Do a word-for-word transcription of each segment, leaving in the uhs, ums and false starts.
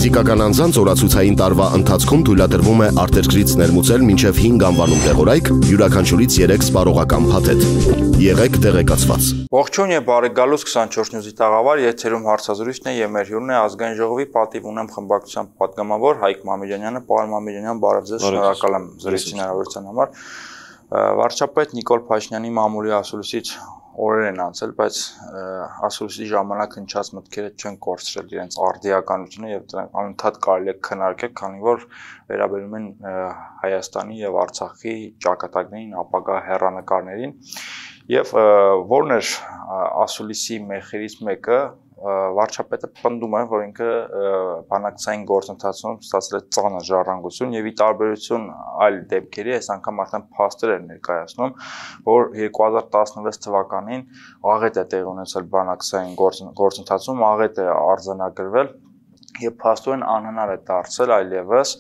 Ֆիզիկական անձանց օրացուցային տարվա ընթացքում թույլատրվում է արտերկրից ներմուծել մինչև հինգ անվանում տեղորայք, յուրաքանչյուրից երեք սպառողական փաթեթ։ Եղեք տեղեկացված։ Ողջույն եւ բարի գալուս քսանչորս նյուզի տաղավար, եթերում հարցազրույցն է եւ մեր հյուրն է ազգային ժողովի պատիվ ունեմ խմբակցության պատգամավոր Հայկ Մամեդյանը, պարոն Մամեդյան, բարև ձեզ, շնորհակալ եմ զրույցի հնարավորության համար։ Վարչապետ Նիկոլ Փաշինյանի մամուլի ասուլիսից օրեր են անցել, բայց ասուլիսի ժամանակ հնչած մտքերը չեն կորցրել իրենց արդիականությունը եւ դրանք անընդհատ կարելի է քննարկել, քանի որ վերաբերում են Հայաստանի եւ Արցախի ճակատագրին, ապագա հեռանկարներին եւ որն էր ասուլիսի մեխերից մեկը վարչապետը պնդում է, որ ինքը բանակցային գործընթացում ստացել է ծանր ժառանգություն եւ ի տարբերություն այլ դեպքերի այս անգամ արդեն փաստեր էր ներկայացնում, որ երկու հազար տասնվեց թվականին աղետ է տեղի ունեցել բանակցային գործընթացում, աղետ է արձանագրվել եւ փաստորեն անհնար է դարձել այլևս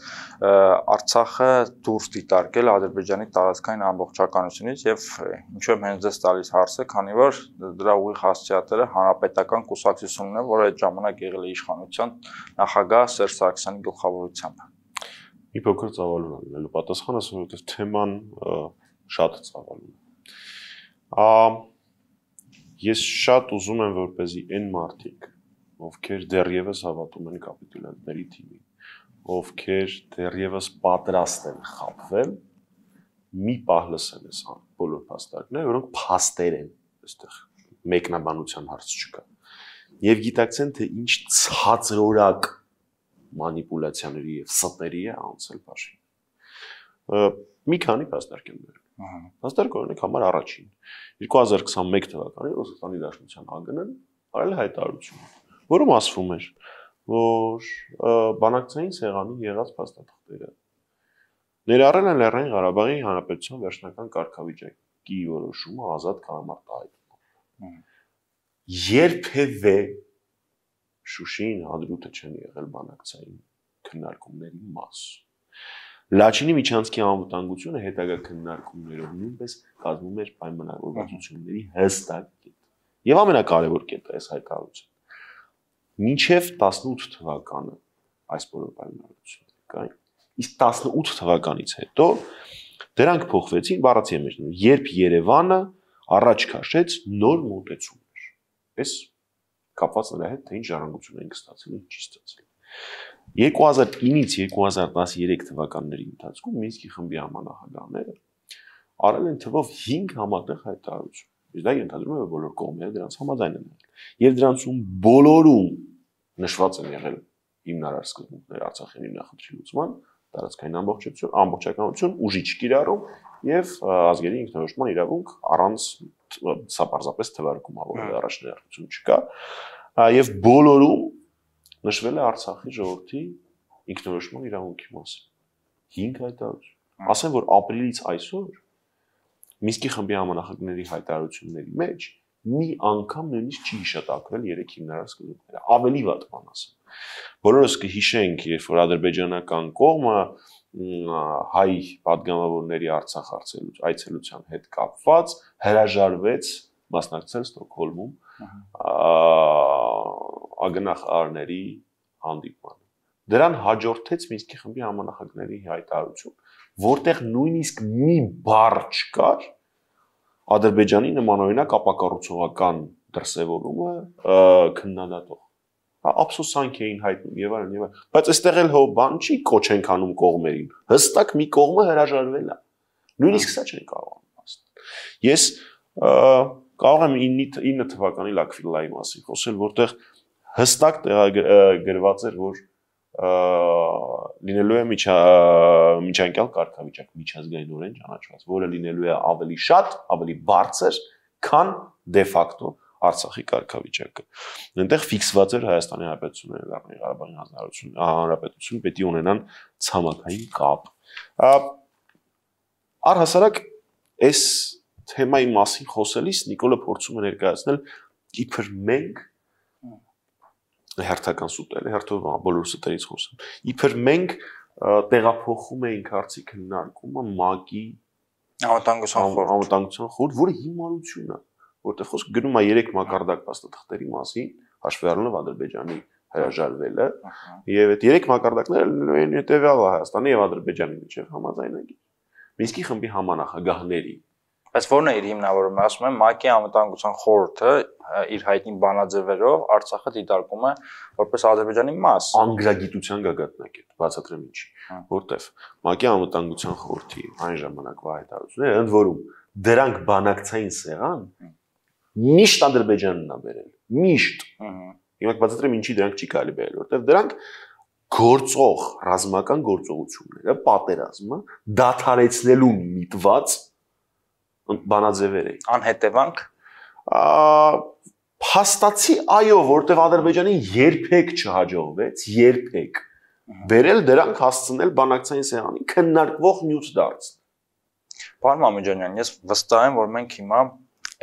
Արցախը դուրս դիտարկել Ադրբեջանի տարածքային ամբողջականությունից եւ ինչու եմ հենց դες տալիս հարցը, քանի որ դրա ուղիղ հասցեատերը հանրապետական կուսակցությունն է, որը այդ ժամանակ եղել է իշխանության նախագահ Սերժ Սարգսյանի գլխավորությամբ։ Մի փոքր ծավալուն է լինելու պատասխանը, որովհետեւ թեման շատ ծավալուն է։ Ես շատ ուզում եմ, որպեսզի այն մարդիկ, ովքեր դեռևս հավատում են կապիտուլյանտների թիմին, ովքեր դեռևս պատրաստ են խաբվել, մի պահ լսեն այս բոլոր փաստարկները, որոնք փաստեր են, այստեղ մեկնաբանության հարց չկա։ Եվ գիտակցեն, թե ինչ ցածրորակ մանիպուլյացիաների եւ ստերի է անցել Փաշինյանը։ Մի քանի փաստարկ եմ բերել։ Փաստարկ օրինակ համար առաջին երկու հազար քսանմեկ թվականին Ռուսաստանի Դաշնության ԱԳՆ-ն արել է հայտարարություն, որում ասվում էր, որ բանակցային սեղանին եղած փաստաթղթերը ներառել են Լեռնային Ղարաբաղի Հանրապետության վերջնական կարգավիճակի որոշումը ազատ կամարտահայտում։ Երբևէ Շուշին, Հադրութը չեն եղել բանակցային քննարկումների մաս։ Լաչինի միջանցքի անվտանգությունը հետագա քննարկումներով նույնպես կազմում էր պայմանավորվածությունների հստակ կետ։ Եվ ամենակարևոր կետը այս հայտարարությունը մինչև տասնութ թվականը այս բոլոր պայմանավորվածությունները կային, իսկ տասնութ թվականից հետո դրանք փոխվեցին, բառացի եմ մեջնում, երբ Երևանը առաջ քաշեց նոր մոտեցումներ։ Այս կապված նրա հետ, թե ինչ ժառանգություն են ստացել, ինչ չի ստացել։ երկու հազար ինից երկու հազար տասներեք թվականների ընթացքում Մինսկի խմբի համանախագահները արել են թվով հինգ համատեղ հայտարարություն։ Իսկ դա ենթադրում է, որ բոլոր կողմերը դրանց համաձայն են եղել։ Եվ դրանցում բոլորում նշված են եղել հիմնարար սկզբունքներ Արցախի հիմնախնդրի լուծման, տարածքային ամբողջություն, ամբողջականություն, ուժի չկիրառում եւ ազգերի ինքնորոշման իրավունք առանց սա պարզապես թվարկում ա, որ առաջնահերթություն չկա, եւ բոլորում նշվել է Արցախի ժողովրդի ինքնորոշման իրավունքի մասին։ հինգ հայտարարություն։ Ասեմ, որ ապրիլից այսօր Մինսկի խմբի համանախագահների հայտարարությունների մեջ մի անգամ նույնիսկ չի հիշատակվել երեք հիմնարար սկզբունքները, ավելի վատ բան ասեմ։ Բոլորս կհիշենք, երբ որ ադրբեջանական կողմը հայ պատգամավորների Արցախ այցելության հետ կապված հրաժարվեց մասնակցել Ստոկհոլմում ԱԳՆ-ների հանդիպմանը։ Դրան հաջորդեց Մինսկի խմբի համանախագահների հայտարարություն, որտեղ նույնիսկ մի բառ չկար Ադրբեջանի նմանօրինակ ապակառուցողական դրսևորումը քննադատող։ Ափսոսանք էին հայտնում եւ այլն եւ այլն, բայց այստեղ էլ հո բան չի կոչ ենք անում կողմերին։ Հստակ մի կողմը հրաժարվել է։ Նույնիսկ սա չեն կարողանում ասել։ Ես կարող եմ ինը թվականի Լաքվիլայի մասին խոսել, որտեղ հստակ գրված էր, որ լինելու է միջանկյալ կարգավիճակ, միջազգայինորեն ճանաչված, որը լինելու է ավելի շատ, ավելի բարձր, քան դե ֆակտո Արցախի կարգավիճակը։ Այնտեղ ֆիքսված էր Հայաստանի Հանրապետությունը եւ Լեռնային Ղարաբաղի Հանրապետություն պետք է ունենան ցամաքային կապ։ Առհասարակ այս թեմայի մասին խոսելիս Նիկոլը փորձում է ներկայացնել իբր մենք հերթական սուտել, հերթով բոլոր սուտերից խոսեմ։ Իբր մենք տեղափոխում էինք հարցի քննարկումը ՄԱԿ-ի անվտանգության խորհուրդ, որը հիմարություն է, որտեղ խոսք գնում է երեք մակարդակ փաստաթղթերի մասին, հաշվի առնելով Ադրբեջանի հրաժարվել է եւ այդ երեք մակարդակները են հետեւյալը Հայաստանի եւ Ադրբեջանի միջեւ համաձայնագիր Մինսկի խմբի համանախագահների Բայց ո՞րն է իր հիմնավորումը, ասում եմ ՄԱԿ-ի անվտանգության խորհուրդը իր հայտնի բանաձևերով Արցախը դիտարկում է որպես Ադրբեջանի մաս։ Անգրագիտության գագաթնակետ, բացատրեմ ինչի, որտեվ ՄԱԿ-ի անվտանգության խորհրդի այն ժամանակվա հայտարարությունները ընդ որում դրանք բանակցային սեղան միշտ Ադրբեջանն է բերել, միշտ։ Հիմա կբացատրեմ ինչի դրանք չի կարելի բերել, որտեվ դրանք գործող ռազմական գործողությունները, պատերազմը դադարեցնելու միտված բանաձևեր է։ Անհետևանք Փաստացի այո, որտեղ Ադրբեջանին երբեք չհաջողվեց, երբեք բերել դրանք հասցնել բանակցային սեղանին քննարկվող նյութ դարձնել։ Պարոն Մամեջանյան, ես վստահ եմ, որ մենք հիմա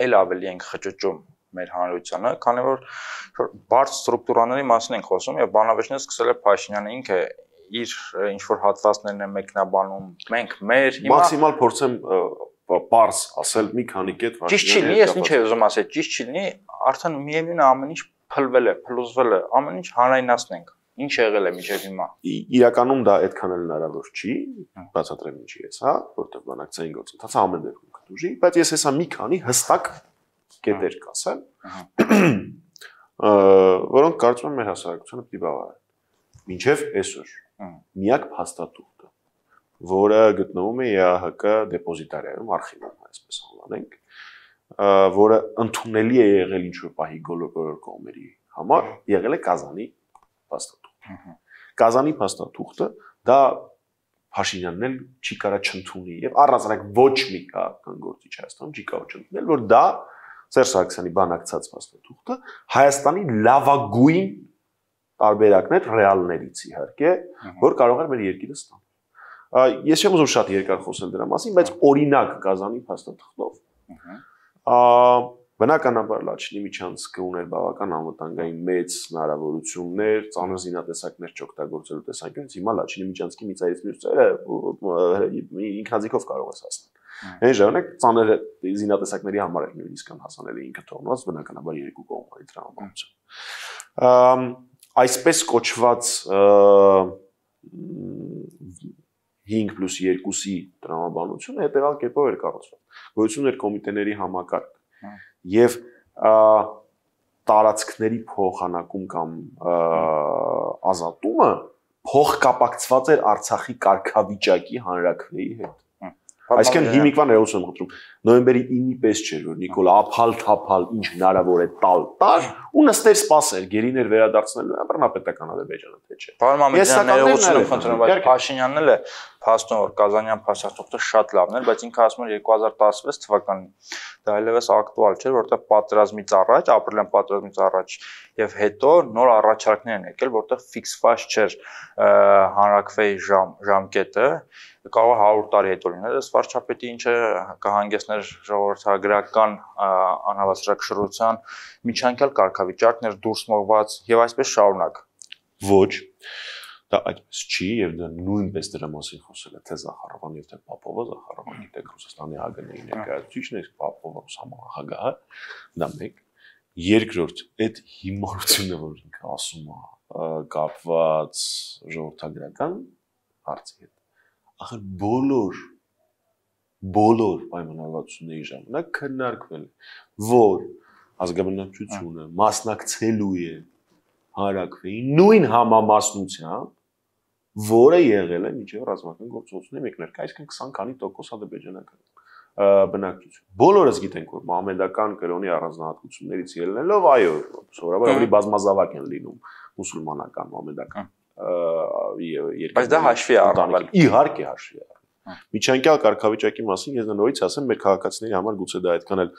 ել ավելի ենք խճճում մեր հանրությանը, քանի որ բարձ ստրուկտուրաների մասին ենք խոսում եւ բանավեճները սկսել է Փաշինյանը ինքը իր ինչ որ հատվածներն է մեկնաբանում, մենք մեր հիմա մաքսիմալ փորձեմ Պարս ասել մի քանի կետ Ճիշտ չի լինի, ես ինչ եմ ուզում ասել, ճիշտ չի լինի, արդեն միևնույն է ամեն ինչ փլվել է, փլուզվել է, ամեն ինչ հանրայնացնենք։ Ինչ եղել է մինչև հիմա։ Իրականում դա այդքան էլ հնարավոր չի, բացատրեմ ինչի ես, հա, որտեղ բանակցային գործընթացը ամեն դեպքում կդուժի, բայց ես հեսա մի քանի հստակ կետեր կասեմ, որոնք կարծում եմ մեր հասարակությունը պիտի բավարարեն։ Մինչև այսօր միակ փաստաթուղթը որը գտնվում է ԵԱՀԿ դեպոզիտարիայում, արխիվում, այսպես անվանենք, որը ընդունելի է եղել ինչ-որ պահի բոլոր կողմերի համար, եղել է Կազանի փաստաթուղթը։ Կազանի փաստաթուղթը դա Փաշինյանն էլ չի կարա չընդունի եւ առանձնակ ոչ մի քաղաքական գործիչ Հայաստանում չի կարող չընդունել, որ դա Սերժ Սարգսյանի բանակցած փաստաթուղթը Հայաստանի լավագույն տարբերակն է ռեալներից իհարկե, որ կարող է մեր երկիրը ստանալ։ Ես չեմ ուզում շատ երկար խոսել դրա մասին, բայց օրինակ Կազանի փաստաթղթով բնականաբար Լաչինի միջանցքը ուներ բավական անվտանգային մեծ հնարավորություններ, ծանր զինատեսակներ չօգտագործելու տեսանկյունից, հիմա Լաչինի միջանցքի մի ծայրից մյուս ծայրը ինքնաձիգով կարող է հասնել։ Այն ժամանակ ծանր զինատեսակների համար էլ նույնիսկ անհասանելի ինքը թողնված բնականաբար երկու կողմերի տրամաբանությամբ։ Այսպես կոչված հինգ պլյուս երկուսի տրամաբանությունը հետևյալ կերպով էր կառուցված։ Գոյություն էր կոմիտեների համակարգ եւ տարածքների փոխանակում կամ ազատումը փոխկապակցված էր Արցախի կարգավիճակի հանրաքվեի հետ։ Այսինքն հիմիկվա ներողություն եմ խնդրում, նոյեմբերի ինը պես չէր, որ Նիկոլ ափալ-թափալ ինչ հնարավոր է տալ տար ու նստեր սպասեր գերիներ վերադարձնելու բռնապետական Ադրբեջանը թե չէ։ Պարոն Մամեդյան, ներողություն եմ խնդրում, բայց Փաշինյանն էլ է փաստում, որ Կազանյան փաստաթուղթը շատ լավն էր, բայց ինքը ասում էր երկու հազար տասնվեց թվականին դա այլևս ակտուալ չէր, որտեղ պատերազմից առաջ, ապրիլյան պատերազմից առաջ եւ հետո նոր առաջարկներ են եկել, որտեղ ֆիքսված չէր հանրաքվեի ժամ ժամկետը, կարող է հարյուր տարի հետո լինել, ըստ վարչապետի ինչը կհանգեցներ ժողովրդագրական անհավասարակշռության միջանկյալ կարգավիճակներ դուրս մղված եւ այսպես շարունակ։ Ոչ, դա այդպես չի եւ դա նույնպես դրա մասին խոսել է թե Զախարովան եւ թե Պապովը, Զախարովան գիտեք Ռուսաստանի ԱԳՆ-ի ներկայացուցիչն է, Պապովը համահագահը, դա մեկ։ Երկրորդ, այդ հիմարությունը, որ ինքը ասում է, կապված ժողովրդագրական հարցի հետ։ Ախր բոլոր բոլոր պայմանավորվածությունների ժամանակ քննարկվել է, որ ազգաբնակչությունը մասնակցելու է հանրաքվեի նույն համամասնությամբ, որը եղել է մինչև ռազմական գործողությունների մեկնարկը, այսինքն քսան քանի տոկոս ադրբեջանական բնակչություն։ Բոլորս գիտենք, որ մահմեդական կրոնի առանձնահատկություններից ելնելով, այո, սովորաբար ավելի բազմազավակ են լինում մուսուլմանական, մահմեդական Բայց դա հաշվի է առնվել։ Իհարկե հաշվի է առնվել։ Միջանկյալ կարգավիճակի մասին ես նորից ասեմ, մեր քաղաքացիների համար գուցե դա այդքան էլ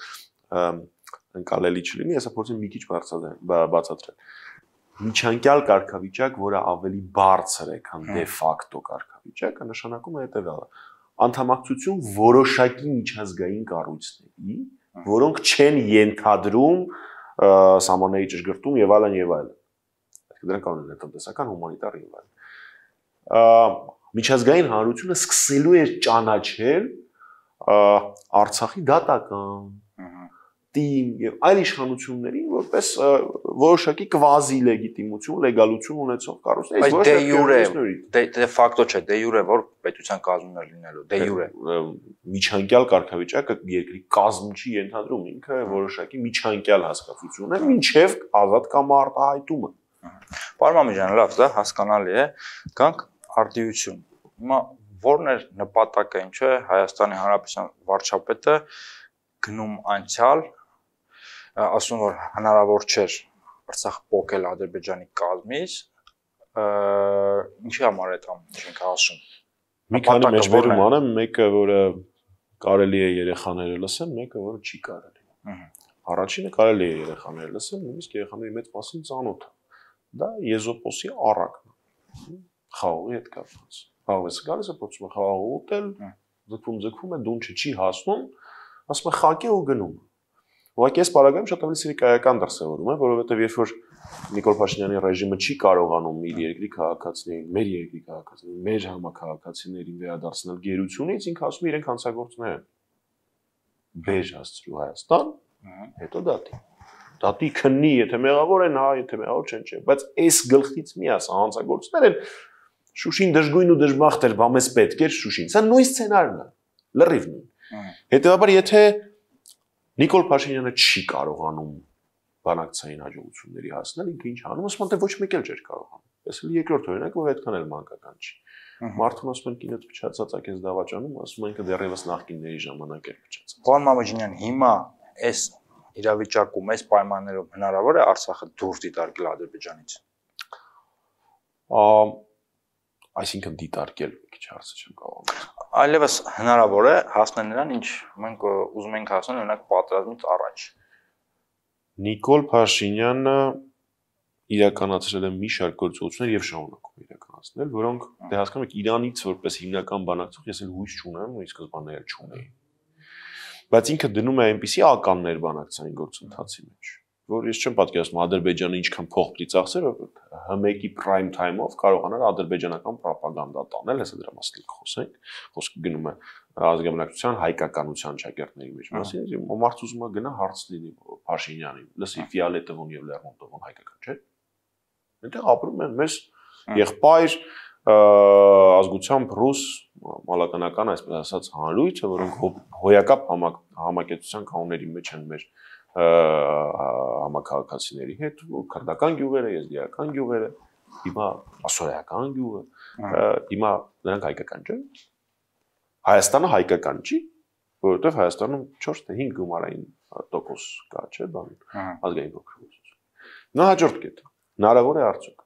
ընկալելի չլինի, ես փորձեմ մի քիչ բացատրել։ Միջանկյալ կարգավիճակ, որը ավելի բարձր է, քան դե ֆակտո կարգավիճակը, նշանակում է հետևյալը. անդամակցություն որոշակի միջազգային կառույցների, որոնք չեն ենթադրում սահմանների ճշգրտում եւ այլն եւ այլն։ Դրանք կանոն են տնտեսական, հումանիտար եւ այլն։ Միջազգային հանրությունը սկսելու էր ճանաչել Արցախի դատական, ՏԻՄ եւ այլ իշխանություններին որպես որոշակի կվազի լեգիտիմություն, լեգալություն ունեցող կառույցներ, ոչ թե յուրե, դե ֆակտո չէ, դե յուրե որ պետության կազմներ լինելու, դե յուրե միջանկյալ կարգավիճակը երկրի կազմ չի ենթադրում, ինքը որոշակի միջանկյալ հասկացություն է, մինչև ազատ կամ արտահայտումը։ Պարոն Մամեջյան, լավ, դա հասկանալի է, գանք արդիություն։ Հիմա որն է նպատակը, ինչ է Հայաստանի Հանրապետության վարչապետը գնում անցյալ, ասում որ հնարավոր չէր Արցախ փոխել Ադրբեջանի կազմից, ինչի համար է դա ինչ ասում։ Մի քանի մեջբերում անեմ, մեկը որը կարելի է երեխաները լսեն, մեկը որը չի կարելի։ Առաջինը կարելի է երեխաները լսեն, նույնիսկ երեխաների մեծ մասին ծանոթ է։ Դա Եզոպոսի առակն է, խաղողի հետ կապված։ Խաղողը գալիս է փոխում խաղողը ուտել, ձգվում ձգվում է, դունչը չի հասնում, ասում է խակի ու գնում։ Ուղղակի այս պարագայում շատ ավելի սիրիկայական դրսևորում է, որովհետև երբ որ Նիկոլ Փաշինյանի ռեժիմը չի կարողանում իր երկրի քաղաքացիներին, մեր երկրի քաղաքացիներին, մեր համակարգացիներին վերադարձնել գերությունից, ինքը ասում է իրենք հանցագործներ են։ Բեժ հասցրու Հայաստան, հետո դատի։ Դատի քննի, եթե մեղավոր են, հա, եթե մեղավոր չեն, չէ, բայց այս գլխից մի ասա հանցագործներ են Շուշին դժգույն ու դժբախտ էր, բա մեզ պետք էր Շուշին։ Սա նույն սցենարն է, լրիվ նույն։ Հետևաբար, եթե Նիկոլ Փաշինյանը չի կարողանում բանակցային հաջողությունների հասնել, ինքը ինչ անում, ասում է, ոչ մեկ էլ չէր կարողանում։ Այս էլ երկրորդ օրինակը, որ այդքան էլ մանկական չի։ Մարդուն ասում են կինոց փչացած ակես դավաճանում, ասում են ինքը դեռևս նախկինների ժամանակ էր փչացած։ Պարոն Մամեջյան, հիմա այս իրավիճակում, այս պայմաններում հնարավոր է Արցախը դուրս դիտարկել Ադրբեջանից։ Այսինքն դիտարկել մի քիչ հարցը չեմ կարողանում։ Այլևս հնարավոր է հասնել նրան, ինչ մենք ուզում ենք հասնել օրինակ պատերազմից առաջ։ Նիկոլ Փաշինյանը իրականացրել է մի շարք գործողություններ եւ շարունակում իրականացնել, որոնք դե հասկանում եք Իրանից որպես հիմնական բանակցող ես էլ հույս չունեմ, ու ի սկզբանե էլ չունեի։ Բայց ինքը դնում է այնպիսի ականներ բանակցային գործընթացի մեջ, որ ես չեմ պատկերացնում Ադրբեջանը ինչքան փող պիտի ծախսեր, որ Հ-մեկի prime time-ով կարողանար ադրբեջանական ռոպագանդա տանել, հեսա դրա մասին խոսենք, խոսքը գնում է ազգամնակցության հայկականության շակերտների մեջ մասին, մարդ ուզում է գնա հարց լինի Փաշինյանին, լսի Ֆիալետովն եւ Լեռնոտովն հայկական չէ։ Այնտեղ ապրում են մեզ եղբայր ազգությամբ ռուս մալականական այսպես ասած հանրույթը, որոնք հոյակապ համակեցության կանոնների մեջ են մեր համակարգացիների հետ, քրդական գյուղերը, եզդիական գյուղերը, հիմա ասորայական գյուղը, հիմա նրանք հայկական չեն։ Հայաստանը հայկական չի, որովհետև Հայաստանում չորս թե հինգ գումարային տոկոս կա, չէ, բան, ազգային փոքրություն։ Նա հաջորդ կետը, հնարավոր է արդյոք։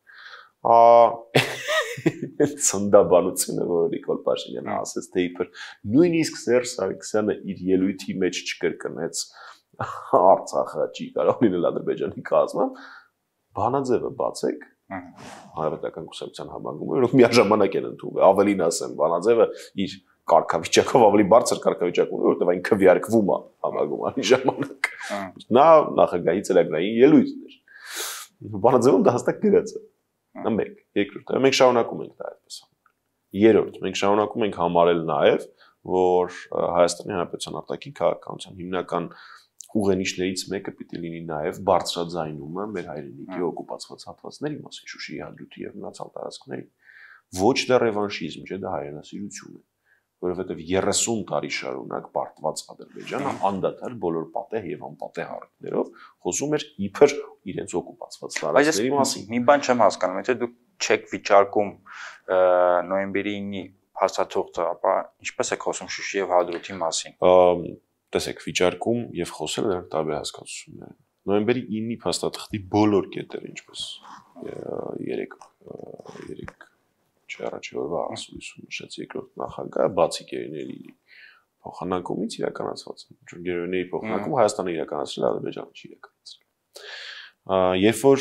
Ցնդաբանությունը, որ Նիկոլ Փաշինյանը ասեց, թե իբր նույնիսկ Սերժ Սարգսյանը իր ելույթի մեջ չկրկնեց Արցախը չի կարող լինել Ադրբեջանի կազմում, բանաձևը բացեք, Հանրապետական կուսակցության համագումարը, որոնք միաժամանակ են ընդունվել, ավելին ասեմ, բանաձևը իր կարգավիճակով ավելի բարձր կարգավիճակ ունի, որովհետև այն քվեարկվում է համագումարի ժամանակ։ Նա նախագահի ծրագրային ելույթն էր։ Բանաձևում դա հստակ գրած է։ Դա մեկ, երկրորդ, մենք շարունակում ենք դա այդպես անել։ Երրորդ, մենք շարունակում ենք համարել նաև, որ Հայաստանի Հանրապետության արտաքին քաղաքականության հիմնական ուղենիշներից մեկը պիտի լինի նաև բարձրաձայնումը մեր հայրենիքի օկուպացված հատվածների մասին, Շուշիի հադրութի եւ մնացյալ տարածքների։ Ոչ դա ռևանշիզմ չէ, դա հայրենասիրություն է, որովհետեւ երեսուն տարի շարունակ պարտված Ադրբեջանը անդադար բոլոր պատեհ եւ անպատեհ առիթներով խոսում էր իբր իրենց օկուպացված տարածքների մասին։ Մի բան չեմ հասկանում, եթե դուք չեք վիճարկում նոյեմբերի ինը հաստատողը, ապա ինչպես եք խոսում Շուշի եւ հադրութի մասին։ Տեսեք, վիճարկում եւ խոսել դրանք տարբեր հասկացություններ են։ Նոյեմբերի ինը փաստաթղթի բոլոր կետերը, ինչպես երեք երեք չառաջի օրվա ասուլիսում նշեց երկրորդ նախագահը, բացի գերիների փոխանակումից իրականացված են։ Գերիների փոխանակում Հայաստանը իրականացրել, Ադրբեջանը չի իրականացրել։ Երբ որ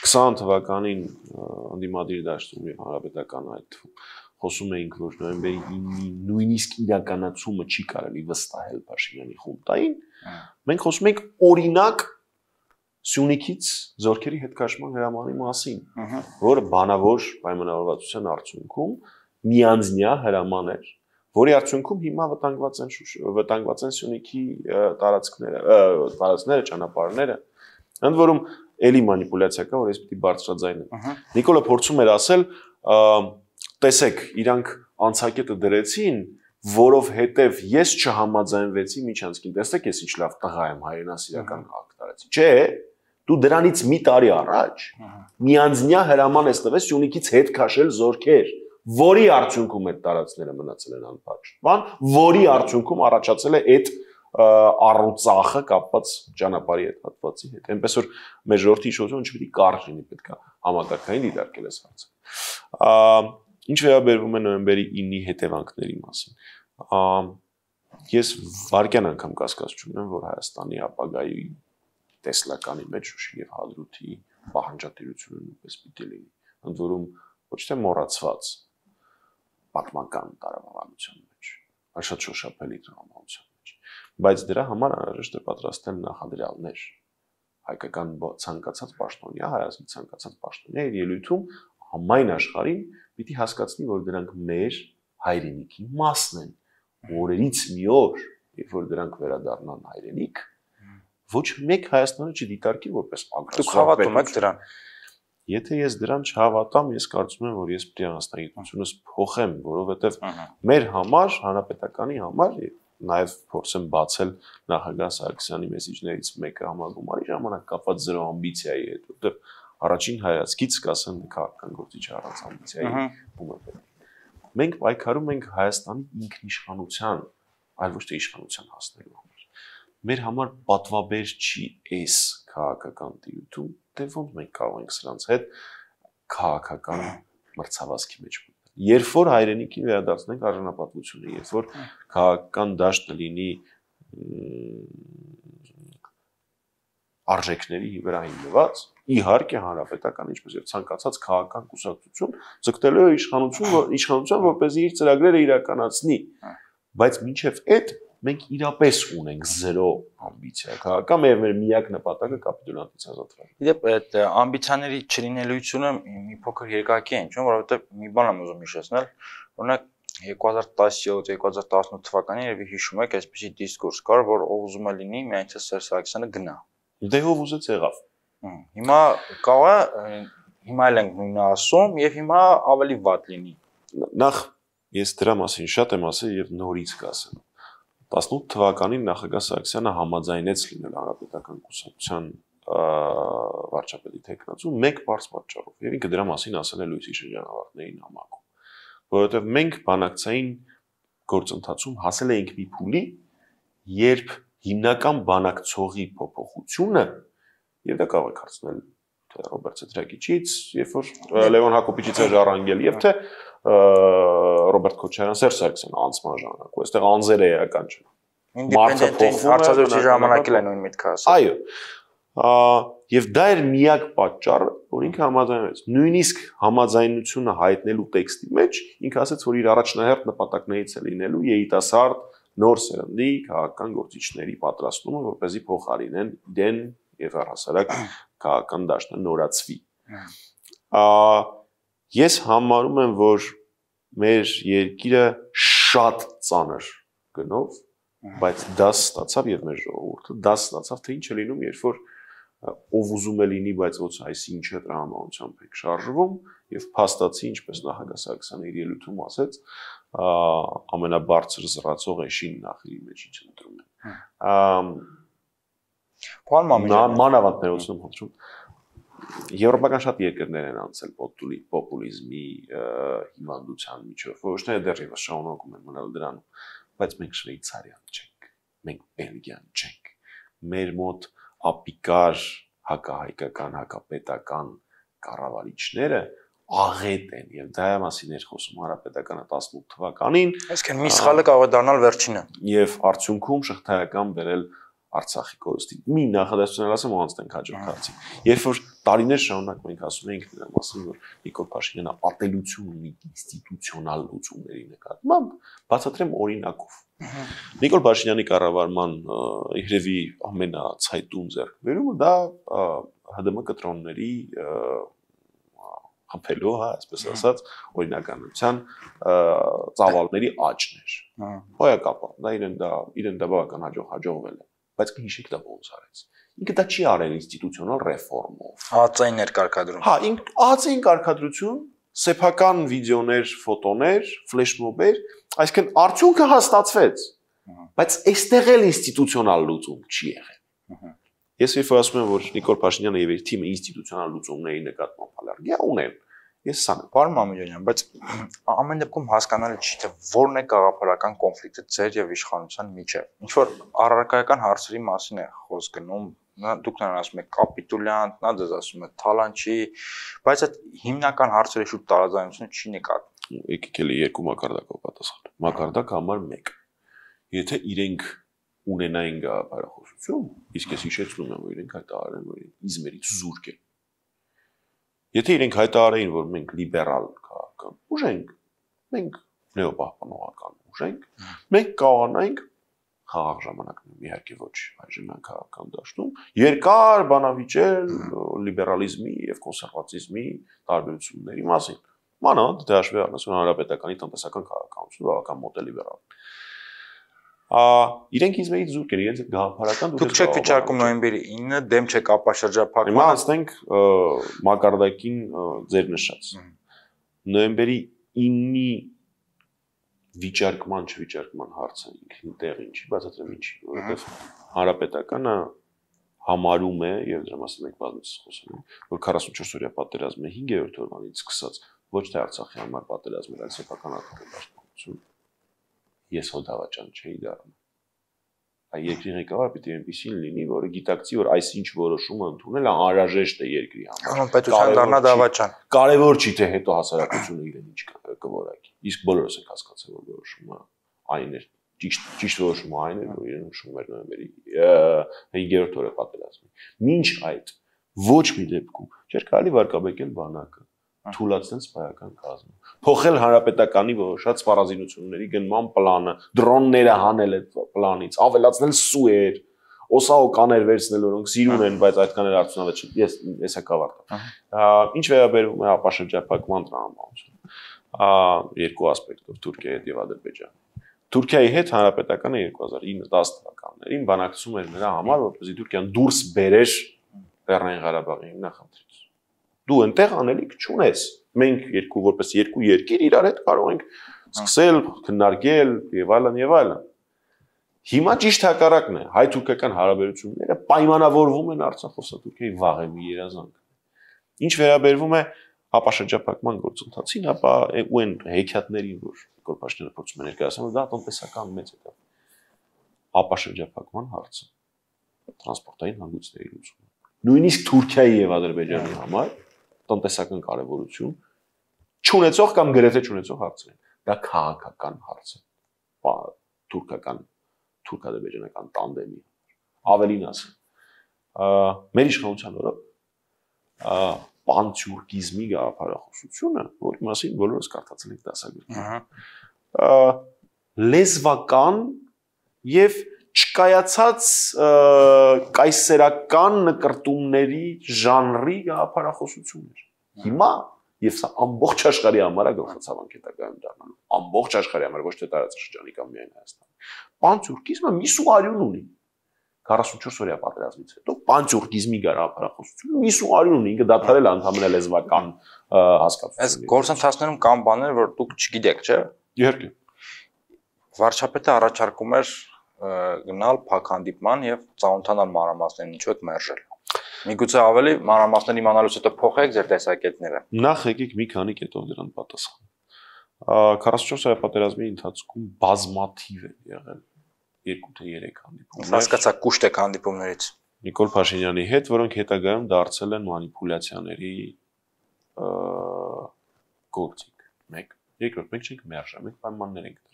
քսան թվականին անդիմադիր դաշտում եւ հանրապետական այդ խոսում էինք, որ նոյեմբերի ինը նույնիսկ իրականացումը չի կարելի վստահել Փաշինյանի խունտային, մենք խոսում ենք օրինակ Սյունիքից զորքերի հետքաշման հրամանի մասին, որը բանավոր պայմանավորվածության արդյունքում միանձնյա հրաման էր, որի արդյունքում հիմա վտանգված են վտանգված են Սյունիքի տարածքները, տարածքները, ճանապարհները։ Ընդ որում էլի մանիպուլյացիա կա, որ ես պիտի բարձրաձայնեմ։ Նիկոլը փորձում էր ասել, տեսեք, իրանք անցակետը դրեցին, որովհետև ես չհամաձայնվեցի միջանցքին։ Տեսեք, ես ինչ լավ տղա եմ, հայրենասիրական քաղաք տարեցի։ Չէ, դու դրանից մի տարի առաջ միանձնյա հրաման ես տվել Սյունիքից հետ քաշել զորքեր, որի արդյունքում այդ տարածքները մնացել են անփակ։ Բան, որի արդյունքում առաջացել է այդ առուծախը կապված ճանապարհի հետ հատվածի հետ։ Այնպես որ մեր ժողովրդի իշխանությունը չպետք է կարճ լինի, պետք է համակարգային դիտարկել այս հարցը։ Ինչ վերաբերում է նոյեմբերի ինի հետևանքների մասին։ Ես վարկյան անգամ կասկած չունեմ, որ Հայաստանի ապագայի տեսլականի մեջ Շուշի եւ Հադրութի պահանջատիրությունը նույնպես պիտի լինի։ Ընդ որում ոչ թե մոռացված պատմական տարավանության մեջ, այլ շատ շոշափելի դրամատուրգիության մեջ, բայց դրա համար անհրաժեշտ է պատրաստել նախադրյալներ։ Հայկական ցանկացած պաշտոնյա, հայազգի ցանկացած պաշտոնյա իր ելույթում համայն աշխարհին պիտի հասկացնի, որ դրանք մեր հայրենիքի մասն են։ Օրերից մի օր, երբ որ դրանք վերադառնան հայրենիք, ոչ մեկ Հայաստանը չդիտարկի որպես ագրեսոր։ Դուք հավատում եք դրան։ Եթե ես դրան չհավատամ, ես կարծում եմ, որ ես պիտի անձնագիտությունս փոխեմ, որովհետև մեր համար, հանրապետականի համար, նաև փորձեմ բացել նախագահ Սարգսյանի մեսիջներից մեկը համագումարի ժամանակ կապված զրո ամբիցիայի հետ, որովհետև առաջին հայացքից կասեմ քաղաքական գործիչ առանց ամբիցիայի ում է։ Մենք պայքարում ենք Հայաստանի ինքնիշխանության, այլ ոչ թե իշխանության հասնելու համար։ Մեր համար պատվաբեր չի այս քաղաքական տիրույթում, դե ոնց մենք կարող ենք սրանց հետ քաղաքական մրցավազքի մեջ մտնել։ Երբ որ հայրենիքին վերադարձնենք արժանապատվությունը, երբ որ քաղաքական դաշտը լինի արժեքների վրա հիմնված, իհարկե հանրապետական, ինչպես եւ ցանկացած քաղաքական կուսակցություն ձգտելու է իշխանություն, իշխանության, որպեսզի իր ծրագրերը իրականացնի, բայց մինչեւ այդ մենք իրապես ունենք զերո ամբիցիա քաղաքական, եւ մեր միակ նպատակը կապիտուլյանտից ազատվել։ Իդեպ այդ ամբիցիաների չլինելիությունը մի փոքր երկակի է, ինչու՞, որովհետեւ մի բան եմ ուզում հիշեցնել, օրինակ երկու հազար տասնյոթ երկու հազար տասնութ թվականին երբ հիշում եք, այսպեսի դիսկուրս կար, որ ով ուզում է լինի, միայն թե Սերժ Սարգսյանը գնա։ Դե ով ուզեց եղավ։ Հիմա կարող է հիմա էլ ենք նույնը ասում եւ հիմա ավելի վատ լինի։ Նախ ես դրա մասին շատ եմ ասել եւ նորից կասեմ։ տասնութ թվականին նախագահ Սարգսյանը համաձայնեց լինել հանրապետական կուսակցության վարչապետի թեկնածու մեկ բարձ պատճառով եւ ինքը դրա մասին ասել է լույսի շրջանավարտների նամակում, որովհետեւ մենք բանակցային գործընթացում հասել էինք մի փուլի, երբ հիմնական բանակցողի փոփոխությունը եւ դա կարող է հարցնել թե Ռոբերտ Սեդրակիչից, երբ որ Լևոն Հակոբիչից է ժառանգել եւ թե Ռոբերտ Քոչարյան, Սերժ Սարգսյանը անցման ժամանակ, ու այստեղ անձերը էական չեն։ Ինդեպենդենտ հարցազրույցի ժամանակ էլ է նույն միտքը ասել։ Այո։ Եվ դա էր միակ պատճառը, որ ինքը համաձայնվեց։ Նույնիսկ համաձայնությունը հայտնելու տեքստի մեջ ինքը ասաց, որ իր առաջնահերթ նպատակներից է լինելու երիտասարդ նոր սերնդի քաղաքական գործիչների պատրաստումը, որպեսզի փոխարինեն իրեն եւ առհասարակ քաղաքական դաշտը նորացվի։ Ես համարում եմ, որ մեր երկիրը շատ ծանր գնով, բայց դաս ստացավ եւ մեր ժողովուրդը դաս ստացավ, թե ինչ է լինում, երբ որ ով ուզում է լինի, բայց ոչ այսինչը տրամաբանությամբ եք շարժվում եւ փաստացի, ինչպես նախագահ Սարգսյանը իր ելույթում ասեց, ամենաբարձր զրացող էշին նախիրի մեջ ինչ ընտրում են։ Պարոն Մամեջյան, մանավանդ ներողություն խնդրում։ Եվրոպական շատ երկրներ են անցել պոպուլիզմի հիվանդության միջով, ոչ թե դեռևս շարունակում են մնալ դրանում, բայց մենք շվեյցարիան չենք, մենք բելգիան չենք։ Մեր մոտ ապիկար հակահայկական, հակապետական կառավարիչները աղետ են եւ դա մասին էր խոսում հանրապետականը տասնութ թվականին։ Այսինքն մի սխալը կարող է դառնալ վերջինը։ Եվ արդյունքում շղթայական բերել Արցախի կորստի։ Մի նախադասություն ասեմ, ու անցնենք հաջորդ հարցին։ Երբ որ տարիներ շարունակ մենք ասում էինք դրա մասին, որ Նիկոլ Փաշինյանը ատելություն ունի ինստիտուցիոնալ լուծումների նկատմամբ, բացատրեմ օրինակով։ Նիկոլ Փաշինյանի կառավարման երևի ամենացայտուն ձեռքբերումը դա ՀԴՄ կտրոնների ապելու, հա, այսպես ասած, օրինականության ծավալների աճն էր։ Հոյակապա, դա իրեն դա իրեն դա բավական հաջող հաջողվել է, բայց հիշեք դա ոնց արեց։ Ինքը դա չի արել ինստիտուցիոնալ ռեֆորմով։ Ածային ներկարգադրում։ Հա, ինք ածային կարգադրություն, սեփական վիդեոներ, ֆոտոներ, ֆլեշմոբեր, այսինքն արդյունքը հաստատվեց, բայց այստեղ էլ ինստիտուցիոնալ լուծում չի եղել։ Ես երբ ասում եմ, որ Նիկոլ Փաշինյանը եւ իր թիմը ինստիտուցիոնալ լուծումների նկատմամբ ալերգիա ունեն, ես սա եմ։ Պարոն Մամեջանյան, բայց ամեն դեպքում հասկանալի չի, թե որն է գաղափարական կոնֆլիկտը ձեր եւ իշխանության միջեւ։ Ինչ որ առարկայական հարցերի մասին է խոսք գնում, դուք նրան ասում եք կապիտուլյանտ, նա դες ասում է թալանչի, բայց այդ հիմնական հարցերի շուրջ տարաձայնություն չի նկատվում։ Եկեք էլի երկու մակարդակով պատասխան։ Մակարդակ համար մեկ։ Եթե իրենք ունենային գաղափարախոսություն, իսկ ես հիշեցնում եմ, որ իրենք հայտարարեն, որ իզմերից զուրկ են։ Եթե իրենք հայտարարեին, որ մենք լիբերալ քաղաքական ուժ ենք, մենք նեոպահպանողական ուժ ենք, մենք կարողանանք խաղաղ ժամանակներում, իհարկե ոչ այժմյան քաղաքական դաշտում, երկար բանավիճել լիբերալիզմի եւ կոնսերվատիզմի տարբերությունների մասին։ Մանավանդ դե հաշվի առնես, որ հանրապետականի տնտեսական քաղաքականությունը բավական մոտ է լիբերալ։ Ա իրենք իզմերից զուրկ են, իրենց գաղափարական դուք չեք վիճակում նոյեմբերի ինը դեմ չեք ապաշրջափակման։ Հիմա ասենք մակարդակին ձեր նշած։ Նոյեմբերի ինի վիճարկման չվիճարկման հարցը ինքնին տեղին չի, բացատրեմ ինչի, որովհետև հանրապետականը համարում է եւ դրա մասին մենք բազմիցս խոսում ենք, որ քառասունչորս օրյա պատերազմը հինգերորդ օրվանից սկսած ոչ թե Արցախի համար պատերազմ էր, այլ սեփական արտադրություն։ Ես հո դավաճան չէի դառնում։ Այ երկրի ղեկավար պիտի այնպեսին լինի, որը գիտակցի, որ այսինչ որոշումը ընդունելը անհրաժեշտ է երկրի համար։ Պետության դառնա դավաճան։ Կարևոր չի թե հետո հասարակությունը իրեն ինչ կորակի։ Իսկ բոլորս ենք հասկացել, որ որոշումը այն էր, ճիշտ ճիշտ որոշումը այն էր, որ իրեն նշում էր նոյեմբերի հինգերորդ օրը պատերազմի։ Մինչ այդ ոչ մի դեպքում չէր կարելի վարկաբեկել բանակը, թույլատնել սպայական կազմը, փոխել հանրապետականի որոշած սպառազինությունների գնման պլանը, դրոնները հանել այդ պլանից, ավելացնել սուեր, օսաոկաներ վերցնել, որոնք սիրուն են, բայց այդքան էլ արդյունավետ չեն։ Ես ես հակավարտեմ։ Ինչ վերաբերում է ապաշրջափակման տրամաբանությունը, երկու ասպեկտով Թուրքիայի հետ եւ Ադրբեջանի։ Թուրքիայի հետ հանրապետականը երկու հազար ինը դաս թվականներին բանակցում էր նրա համար, որպեսզի Թուրքիան դուրս բերեր Լեռնային Ղարաբաղի նախընտրից։ Դու այնտեղ անելիք չունես։ Մենք երկու որպես երկու երկիր իրար հետ կարող ենք սկսել քննարկել եւ այլն եւ այլն։ Հիմա ճիշտ հակառակն է։ Հայ-թուրքական հարաբերությունները պայմանավորվում են Արցախ-Թուրքիայի վաղեմի երազանքը։ Ինչ վերաբերվում է ապաշրջափակման գործընթացին, ապա ու այն հեքիաթներին, որ Նիկոլ Փաշինյանը փորձում է ներկայացնել, դա տնտեսական մեծ է դա։ Ապաշրջափակման հարցը տրանսպորտային հանգույցների լուծումը։ Նույնիսկ Թուրքիայի եւ Ադրբեջանի համար տնտեսական կարևորություն չունեցող կամ գրեթե չունեցող հարցեր են։ Դա քաղաքական հարց է։ Թուրքական թուրք-ադրբեջանական տանդեմի ավելին ասեմ։ Մեր իշխանության օրոք պանթյուրքիզմի գաղափարախոսությունը, որի մասին բոլորս կարդացել ենք դասագրքերում, լեզվական եւ չկայացած կայսերական նկրտումների ժանրի գաղափարախոսություն էր։ Հիմա եւ սա ամբողջ աշխարհի համար է գլխացավանք հետագայում դառնալու։ Ամբողջ աշխարհի համար, ոչ թե տարածաշրջանի կամ միայն Հայաստանի։ Պանթյուրքիզմը միսու արյուն ունի։ քառասունչորս օրյա պատերազմից հետո պանթյուրքիզմի գաղափարախոսությունը միսու արյուն ունի, ինքը դադարել է ընդհանրապես լեզվական հասկացություն։ Այս գործընթացներում կան բաներ, որ դուք չգիտեք, չէ՞։ Իհարկե։ Վարչապետը առաջարկում էր գնալ փակ հանդիպման եւ ծանոթանալ մանրամասներին, ինչու եք մերժել։ Միգուցե ավելի մանրամասներ իմանալուց հետո փոխեք ձեր տեսակետները։ Նախ եկեք մի քանի կետով դրան պատասխան։ քառասունչորս օրյա պատերազմի ընթացքում բազմաթիվ են եղել երկու թե երեք հանդիպումներ։ Հասկացա, կուշտ եք հանդիպումներից։ Նիկոլ Փաշինյանի հետ, որոնք հետագայում դարձել են մանիպուլյացիաների գործիք։ Մեկ, երկրորդ, մենք չենք մերժել, մենք պայմաններ ենք դրել։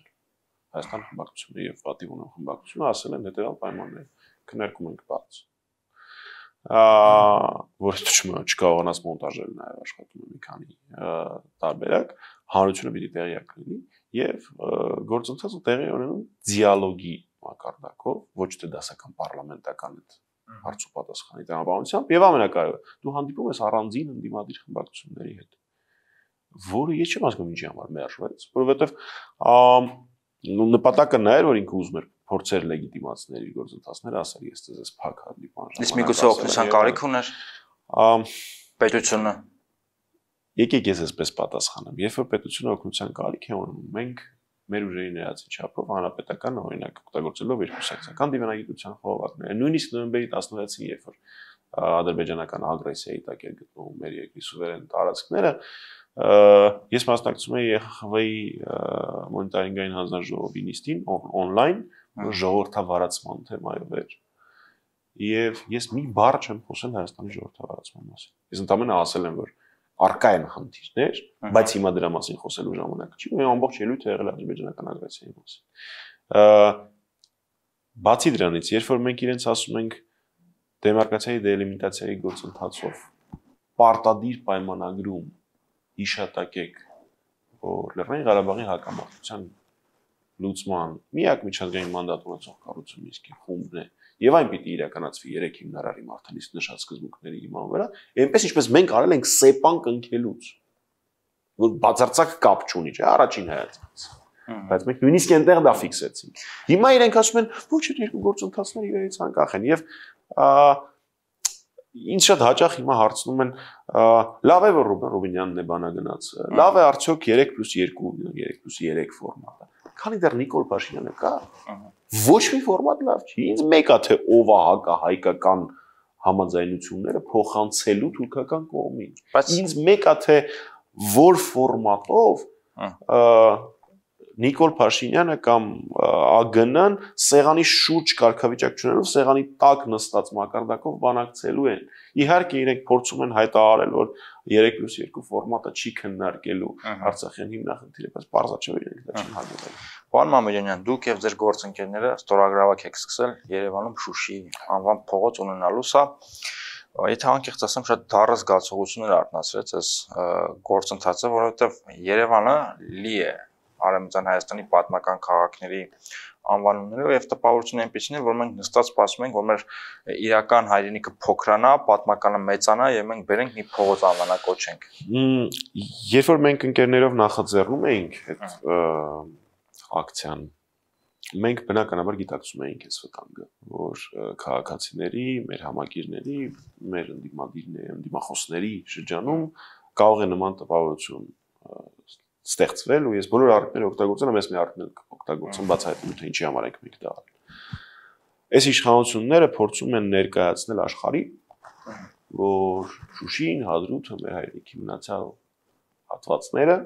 Հայաստան խմբակցությունը եւ պատիվ ունեն խմբակցությունը ասել են հետեւյալ պայմաններ, քննարկում ենք բաց։ Որը չկարողանաց մոնտաժել նաեւ աշխատում է մի քանի տարբերակ, հանրությունը պիտի տեղյակ լինի եւ գործընթացը տեղի ունենում դիալոգի մակարդակով, ոչ թե դասական պարլամենտական այդ հարցու պատասխանի տրամաբանությամբ եւ ամենակարևորը դու հանդիպում ես առանձին ընդդիմադիր խմբակցությունների հետ որը ես չեմ հասկանում ինչի համար մերժվեց, որովհետև նպատակը նա էր, որ ինքը ուզում էր փորձեր լեգիտիմացնել իր գործընթացները, ասել ես ձեզ փակ հանդիպան։ Իսկ միգուցե օգնության կարիք ուներ պետությունը։ Եկեք ես այսպես պատասխանեմ, երբ որ պետությունը օգնության կարիք է ունում, մենք մեր ուժերի ներածի չափով հանրապետական օրինակ օգտագործելով երկու սեկցիական դիվանագիտության խորհուրդները, նույնիսկ նոյեմբերի տասնվեցին, երբ որ ադրբեջանական ագրեսիայի տակ էր գտնվում մեր երկրի սուվերեն տարածքները, ես մասնակցում էի Է Խ Խ Վ-ի մոնիտորինգային հանձնաժողովի նիստին on-line, ժողովրդավարացման թեմայով էր, եւ ես մի բառ չեմ խոսել Հայաստանի ժողովրդավարացման մասին։ Ես ընդամենը ասել եմ, որ առկա են խնդիրներ, բայց հիմա դրա մասին խոսելու ժամանակը չի, ու ամբողջ ելույթը եղել ադրբեջանական ագրեսիայի մասին։ Բացի դրանից, երբ որ մենք իրենց ասում ենք դեմարկացիայի դելիմիտացիայի գործընթացով պարտադիր պայմանագրում հիշատակեք, որ Լեռնային Ղարաբաղի հակամարտության լուծման միակ միջազգային մանդատ ունեցող կառույցը իսկի խումբն է, եւ այն պիտի իրականացվի երեք հիմնարարի մարտահրավերից նշած սկզբունքների հիման վրա, այնպես ինչպես մենք արել ենք սեպան կնքելուց, որ բացարձակ կապ չունի, չէ, առաջին հայացքից։ Բայց մենք նույնիսկ այնտեղ դա ֆիքսեցինք։ Հիմա իրենք ասում են, ոչ, այդ երկու գործընթացները իրարից անկախ են եւ ինձ շատ հաճախ հիմա հարցնում են, լավ է որ Ռուբեն Ռուբինյանն է բանագնաց, լավ է արդյոք երեք պլյուս երկու, երեք պլյուս երեք ֆորմատը։ Քանի դեռ Նիկոլ Փաշինյանը կա, ոչ մի ֆորմատ լավ չի։ Ինձ մեկա թե ով է հակահայկական համաձայնությունները փոխանցելու թուրքական կողմին։ Բայց ինձ մեկա թե որ ֆորմատով Նիկոլ Փաշինյանը կամ Ա Գ Ն-ն սեղանի շուրջ կարգավիճակ չունենալով սեղանի տակ նստած մակարդակով բանակցելու են։ Իհարկե իրենք փորձում են հայտարարել, որ երեք պլյուս երկու ֆորմատը չի քննարկելու Արցախյան հիմնախնդիրը, բայց պարզա չէ որ իրենք դա չեն հաջողել։ Պարոն Մամեդյանյան, դուք եւ ձեր գործընկերները ստորագրավակ եք սկսել Երևանում Շուշի անվան փողոց ունենալու, սա եթե անկեղծ ասեմ, շատ դառը զգացողություններ արտնացրեց այս գործընթացը, որովհետեւ Երևանը լի է Արևմտյան Հայաստանի պատմական քաղաքների անվանումներով եւ տպավորությունն այնպեսին է, որ մենք նստած սպասում ենք, որ մեր իրական հայրենիքը փոքրանա, պատմականը մեծանա եւ մենք բերենք մի փողոց անվանակոչենք։ Երբ որ մենք ընկերներով նախաձեռնում էինք այդ ակցիան, մենք բնականաբար գիտակցում էինք այս վտանգը, որ քաղաքացիների, մեր համակիրների, մեր ընդդիմադիրների, ընդդիմախոսների շրջանում կարող է նման տպավորություն ստեղծվել ու ես բոլոր առիթները օգտագործել եմ, ես մի առիթներ օգտագործեմ բացահայտելու թե ինչի համար ենք մենք դա արել։ Այս իշխանությունները փորձում են ներկայացնել աշխարհին, որ Շուշին, Հադրութը, մեր հայրենիքի մնացյալ հատվածները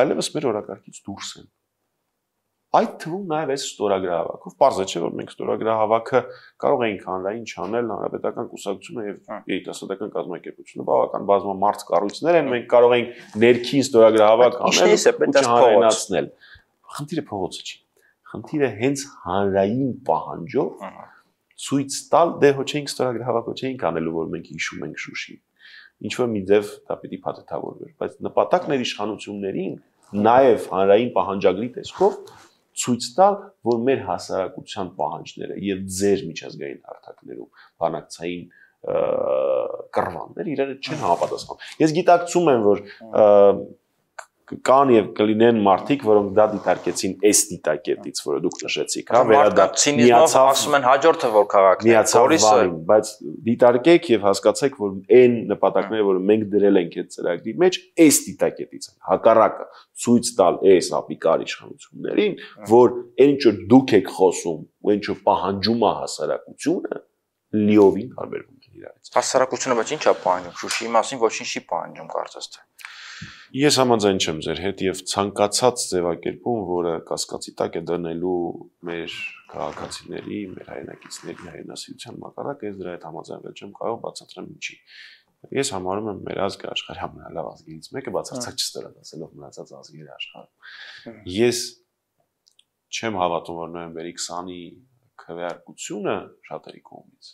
այլևս մեր օրակարգից դուրս են։ Այդ թվում նաև այս ստորագրահավաքով, պարզ է չէ, որ մենք ստորագրահավաքը կարող էինք հանրային չանել, հանրապետական կուսակցությունը եւ երիտասարդական կազմակերպությունը բավական բազմամարդ կառույցներ են, մենք կարող էինք ներքին ստորագրահավաք անել ու չհանրայնացնել։ Խնդիրը փողոցը չի։ Խնդիրը հենց հանրային պահանջով ցույց տալ, դե հո չենք ստորագրահավաք, հո չենք անելու, որ մենք հիշում ենք Շուշին։ Ինչ որ մի ձև դա պիտի փաթեթավորվեր, բայց նպատակն էր իշխանություններին նաև հանրային պահանջագրի տեսքով ցույց տալ, որ մեր հասարակության պահանջները եւ ձեր միջազգային հարթակներում բանակցային կռվաններ իրար չեն համապատասխանում։ Ես գիտակցում եմ, որ կան եւ կլինեն մարդիկ, որոնք դա դիտարկեցին այս դիտակետից, որը դուք նշեցիք, հա, վերադարձ ասում են հաջորդը որ քաղաքն է, Բորիսը, բայց դիտարկեք եւ հասկացեք, որ այն նպատակները, որը մենք դրել ենք այդ ծրագրի մեջ, այս դիտակետից են։ Հակառակը ցույց տալ այս ապիկար իշխանություններին, որ այն ինչ դուք եք խոսում, ու այն ինչ պահանջում է հասարակությունը, լիովին տարբերվում է իրարից։ Հասարակությունը բայց ի՞նչ է պահանջում, Շուշիի մասին ոչինչ չի պահանջում, կարծես թե։ Ես համաձայն չեմ ձեր հետ եւ ցանկացած ձևակերպում, որը կասկածի տակ է դնելու մեր քաղաքացիների, մեր հայրենակիցների հայրենասիրության մակարդակը, ես դրա հետ համաձայնվել չեմ կարող, բացատրեմ ինչի։ Ես համարում եմ մեր ազգը աշխարհի ամենալավ ազգերից մեկը, բացարձակ չստորացնելով մնացած ազգերի աշխարհում։ Ես չեմ հավատում, որ նոյեմբերի քսանի քվեարկությունը շատերի կողմից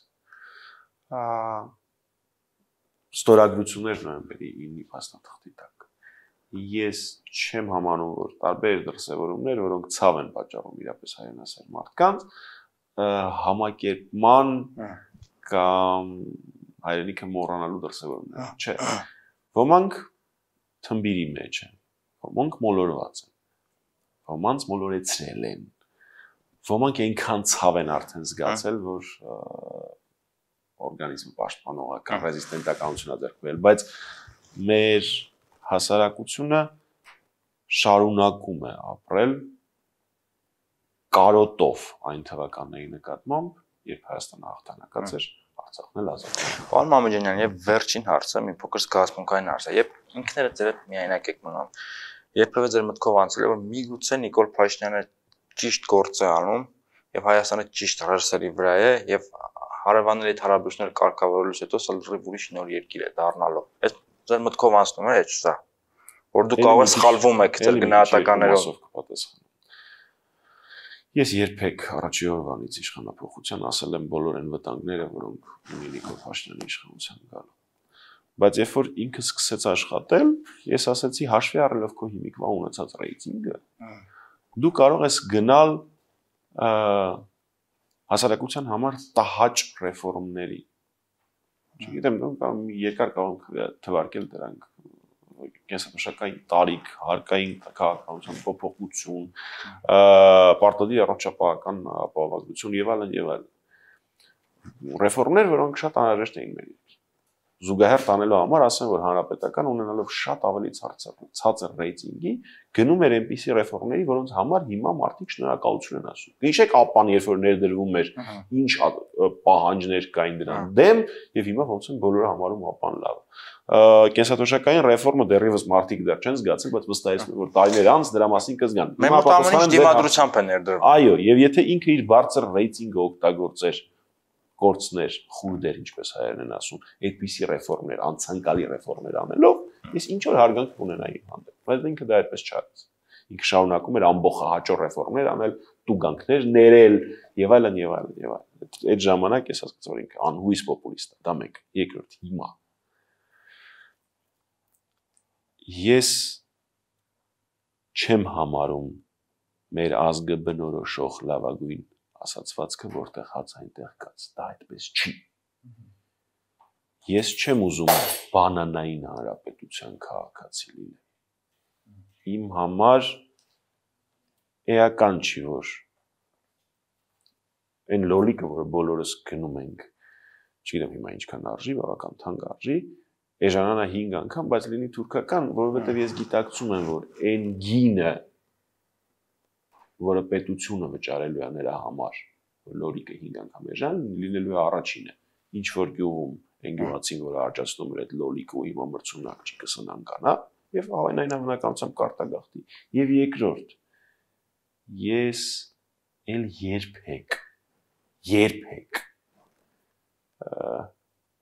ստորագրություններ նոյեմբերի ինը փաստաթղթի տակ։ Ես չեմ համանում, որ տարբեր դրսևորումներ, որոնք ցավ են պատճառում իրապես հայրենասեր մարդկանց, համակերպման կամ հայրենիքը մոռանալու դրսևորումներ, չէ։ Ոմանք թմբիրի մեջ են, ոմանք մոլորված են, ոմանց մոլորեցրել են, ոմանք այնքան ցավ են արդեն զգացել, որ օրգանիզմը պաշտպանողական ռեզիստենտականություն է ձեռքբերել, բայց մեր հասարակությունը շարունակում է ապրել կարոտով այն թվականների նկատմամբ, երբ Հայաստանը հաղթանակած էր, Արցախն էլ ազատ։ Պարոն Մամեջանյան, եւ վերջին հարցը մի փոքր զգացմունքային հարց է, երբ ինքներդ ձեր հետ միայնակ եք մնում, երբևէ ձեր մտքով անցել է, որ միգուցե Նիկոլ Փաշինյանը ճիշտ գործ է անում եւ Հայաստանը ճիշտ ռեսուրսերի վրա է եւ հարևանների հարաբերությունները կարգավորելուց հետո սա լրիվ ուրիշ նոր երկիր է դառնալու։ Այս ձեր մտքով անցնում է, չէ՞ սա։ Որ դուք կարող եք սխալվում եք ձեր գնահատականներով։ Ես երբեք առաջի օրվանից իշխանապողության ասել եմ բոլոր այն վտանգները, որոնք ունի Նիկոլ Փաշինյանի իշխանության գալու։ Բայց երբ որ ինքը սկսեց աշխատել, ես ասացի հաշվի առնելով քո հիմիկվա ունեցած ռեյտինգը, դու կարող ես գնալ հասարակության համար տհաճ ռեֆորմների։ Չգիտեմ, կամ երկար կարող թվարկել դրանք կենսաբաժանական տարիք, հարկային քաղաքականության փոփոխություն, պարտադիր առողջապահական ապահովագրություն եւ այլն եւ այլն։ Ռեֆորմներ, որոնք շատ անհրաժեշտ էին մեր զուգահեռ տանելու համար, ասեմ, որ հանրապետական ունենալով շատ ավելի ցածր ռեյտինգի, գնում էր այնպիսի ռեֆորմների, որոնց համար հիմա մարդիկ շնորհակալություն են ասում։ Հիշեք ԱՊՊ-ն, երբ որ ներդրվում էր, ինչ պահանջներ կային դրան դեմ, եւ հիմա ոնց են բոլորը համարում ԱՊՊ-ն լավ։ Կենսաթոշակային ռեֆորմը դեռևս մարդիկ դեռ չեն զգացել, բայց վստահեցնում եմ, որ տարիներ անց դրա մասին կզգան։ Մենք ամենից դիմադրությամբ են ներդրվում։ Այո, եւ եթե ինքը իր բարձր ռեյտինգը օգտագործեր գործներ, խուրդեր, ինչպես հայերեն են ասում, այդպիսի ռեֆորմներ, անցանկալի ռեֆորմներ անելով, ես ինչ որ հարգանք կունենայի հանդեպ, բայց ինքը դա այդպես չարեց։ Ինքը շարունակում էր ամբողջահաճո ռեֆորմներ անել, տուգանքներ ներել եւ այլն եւ այլն եւ այլն։ Այդ ժամանակ ես հասկացա, որ ինքը անհույս պոպուլիստ է, դա մեկ, երկրորդ հիմա։ Ես չեմ համարում մեր ազգը բնորոշող լավագույն ասացվածքը, որտեղ հաց այնտեղ կաց, դա այդպես չի։ Ես չեմ ուզում բանանային հանրապետության քաղաքացի լինել։ Իմ համար էական չի, որ այն լոլիկը, որը բոլորս գնում ենք, չգիտեմ հիմա ինչքան արժի, բավական թանկ արժի, էժանանա հինգ անգամ, բայց լինի թուրքական, որովհետև ես գիտակցում եմ, որ այն գինը, որը պետությունը վճարելու է նրա համար, լորիկը հինգ անգամ էժան, լինելու է առաջինը, ինչ որ գյուղում այն գյուղացին, որը արջացնում էր այդ լոլիկը ու հիմա մրցունակ չի կսնան կանա, եւ այն հավանականությամբ կարտագաղթի։ Եվ երկրորդ, ես էլ երբեք, երբեք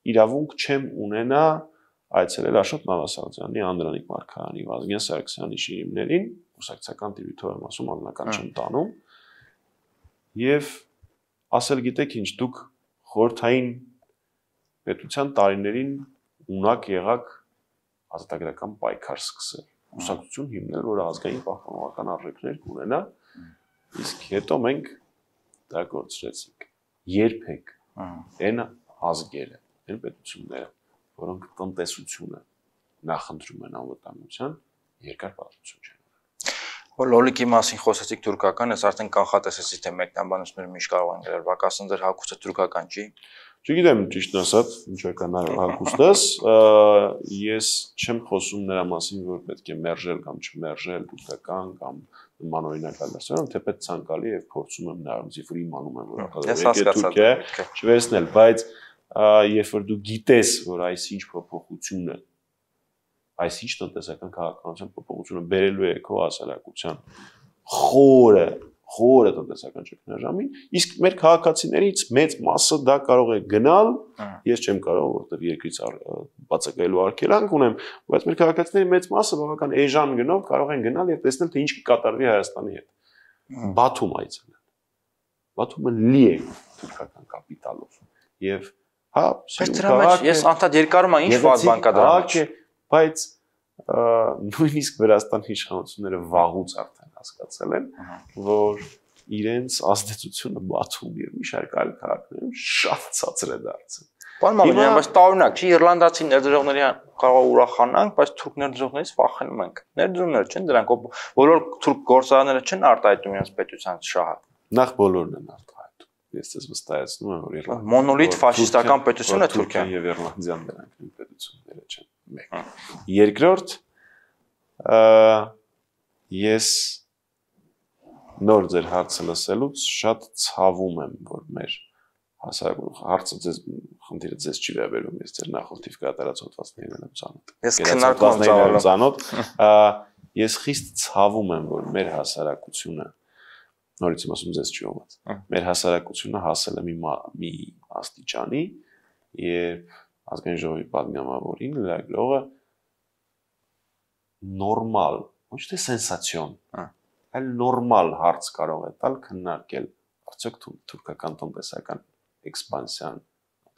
իրավունք չեմ ունենա այցելել Աշոտ Նավասարդյանի, Անդրանիկ Մարգարյանի, Վազգեն Սարգսյանի շիրիմներին, կուսակցական տիրույթով եմ ասում, անձնական չեմ տանում, եւ ասել գիտեք ինչ, դուք խորհրդային պետության տարիներին ունակ եղաք ազատագրական պայքար սկսել, կուսակցություն հիմնել, որ ազգային պահպանողական արժեքներ կունենա, իսկ հետո մենք դա գործրեցինք։ Երբեք այն ազգերը, այն պետությունները, որոնք տնտեսությունը նախընտրում են անվտանգության, երկար պատմություն չեն ունենում։ Որ լոլիկի մասին խոսեցիք թուրքական, ես արդեն կանխատեսեցի, թե մեկնաբանությունները միշտ կարող են գրել, բակասն ձեր հագուստը թուրքական չի։ Չգիտեմ, ճիշտն ասած, ինչ է կանալ հագուստս, ես չեմ խոսում նրա մասին, որ պետք է մերժել կամ չմերժել թուրքական կամ նմանօրինակ ալերսիոն, թեպետ ցանկալի եւ փորձում եմ նրանց իֆր իմանում եմ, որ արտադրել Թուրքիա չվերցնել, բայց երբ որ դու գիտես, որ այսինչ փոփոխությունը, այսինչ տնտեսական քաղաքականության փոփոխությունը բերելու է քո հասարակության խորը, խորը տնտեսական ճգնաժամին, իսկ մեր քաղաքացիներից մեծ մասը դա կարող է գնալ, ես չեմ կարող, որովհետև երկրից բացակայելու արգելանք ունեմ, բայց մեր քաղաքացիների մեծ մասը բավական էժան գնով կարող են գնալ եւ տեսնել, թե ինչ կկատարվի Հայաստանի հետ։ Բաթում այցելել։ Բաթումը լի է թուրքական կապիտալով եւ հա, բայց դրա մեջ ես անդադ երկարում եմ ինչ վատ բան կա դրա մեջ, բայց նույնիսկ Վրաստանի իշխանությունները վաղուց արդեն հասկացել են, որ իրենց ազդեցությունը Բաթում եւ մի շարք այլ քաղաքներում շատ ցածր է դարձել։ Պարոն Մամեջյան, բայց տարօրինակ չի իռլանդացի ներդրողների կարող է ուրախանանք, բայց թուրք ներդրողներից վախենում ենք։ Ներդրումներ չեն դրանք, բոլոր թուրք գործարանները չեն արտահայտում իրենց պետության շահը։ Նախ բոլորն են արտահայտում։ Ես ձեզ վստահեցնում եմ, որ Իռլանդիա մոնոլիթ ֆաշիստական պետություն է Թուրքիան եւ Իռլանդիան դրանք նույն պետությունները չեն։ Մեկ։ Երկրորդ, ես նոր ձեր հարցը լսելուց շատ ցավում եմ, որ մեր հասարակություն հարցը ձեզ խնդիրը ձեզ չի վերաբերում, ես ձեր նախորդիվ կատարած հոդվածներին եմ ծանոթ։ Ես քննարկում եմ ծանոթ։ Ես խիստ ցավում եմ, որ մեր հասարակությունը, նորից եմ ասում ձեզ չի ողած, մեր հասարակությունը հասել է մի մի աստիճանի, երբ ազգային ժողովի պատգամավորին լրագրողը նորմալ, ոչ թե սենսացիոն, այլ նորմալ հարց կարող է տալ քննարկել արդյոք թուրքական տնտեսական էքսպանսիան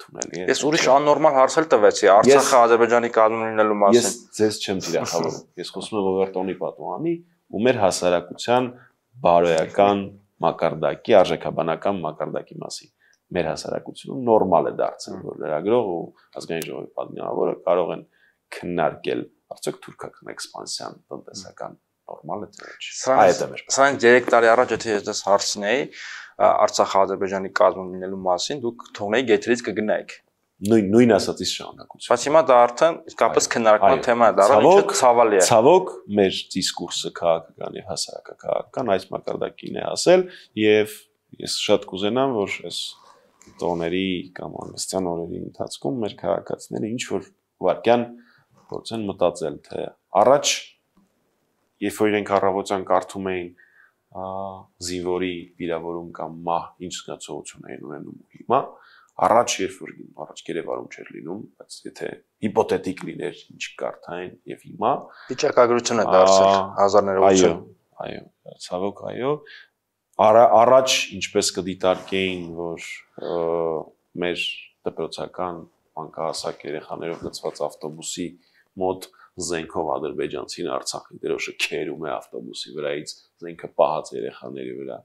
թունելի է։ Ես ուրիշ աննորմալ հարց էլ տվեցի Արցախը Ադրբեջանի կազմում լինելու մասին։ Ես ձեզ չեմ թիրախավորում։ Ես խոսում եմ Ռոբերտոնի պատուհանի ու մեր հասարակության բարոյական մակարդակի, արժեքաբանական մակարդակի մասին։ Մեր հասարակությունը նորմալ է դարձել, որ լրագրող ու ազգային ժողովի պատգամավորը կարող են քննարկել արդյոք թուրքական էքսպանսիան տնտեսական նորմալ է թե չէ։ Այդ է մեր։ Սրանք երեք տարի առաջ եթե ես դες հարցնեի Արցախը Ադրբեջանի կազմում լինելու մասին, դուք թողնեի գետրից կգնայիք։ Նույն նույն ասածից շարունակություն։ Բայց հիմա դա արդեն իսկապես քննարկման թեմա է դառել, ինչը ցավալի է։ Ցավոք մեր դիսկուրսը քաղաքական եւ հասարակական այս մակարդակին է հասել եւ ես շատ կուզենամ, որ այս տոների կամ անվստահ օրերի ընթացքում մեր քաղաքացիները ինչ որ վարքյան փորձեն մտածել, թե առաջ երբ որ իրենք առավոտյան կարդում էին զինվորի վիրավորում կամ մահ ինչ զգացողություն էին ունենում հիմա առաջ երբ որ առաջ գերեվարում չէր լինում, բայց եթե հիպոթետիկ լիներ ինչ կարդային եւ հիմա վիճակագրություն է դարձել հազարներով այո, այո, ցավոք այո, առաջ ինչպես կդիտարկեին, որ մեր դպրոցական մանկահասակ երեխաներով լցված ավտոբուսի մոտ զենքով ադրբեջանցին Արցախի դրոշը քերում է ավտոբուսի վրայից, զենքը պահած երեխաների վրա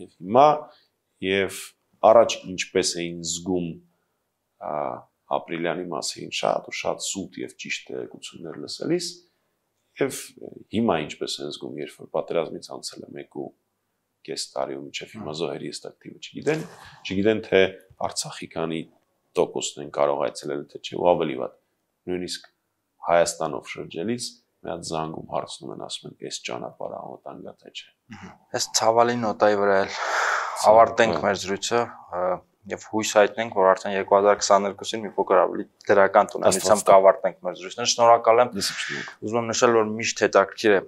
եւ հիմա եւ առաջ ինչպես էին զգում ապրիլյանի մասին շատ ու շատ սուտ եւ ճիշտ տեղեկություններ լսելիս եւ հիմա ինչպես են զգում, երբ որ պատերազմից անցել է մեկ ու կես տարի ու մինչեւ հիմա զոհերի ըստ ակտիվը չգիտեն, չգիտեն թե Արցախի քանի տոկոսն են կարող այցելել թե չէ, ու ավելի վատ նույնիսկ Հայաստանով շրջելիս մի հատ զանգում հարցնում են, ասում են, այս ճանապարհը անվտանգ է թե չէ։ Այս ցավալի նոտայի վրա էլ ավարտենք մեր զրույցը եւ հույս հայտնենք, որ արդեն երկու հազար քսաներկուսին մի փոքր ավելի դրական տոնալությամբ կավարտենք մեր զրույցները։ Շնորհակալ եմ։ Ուզում եմ նշել, որ միշտ հետաքրքիր է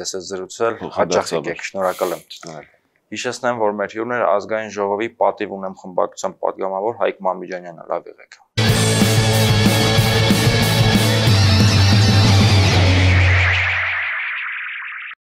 ձեզ հետ զրուցել, հաճախ եկեք, շնորհակալ եմ։ Հիշեցնեմ, որ մեր հյուրն էր ազգային ժողովի պատիվ ունեմ խմբակցության պատգամավոր Հայկ Մամիջանյանը, լավ եղեք։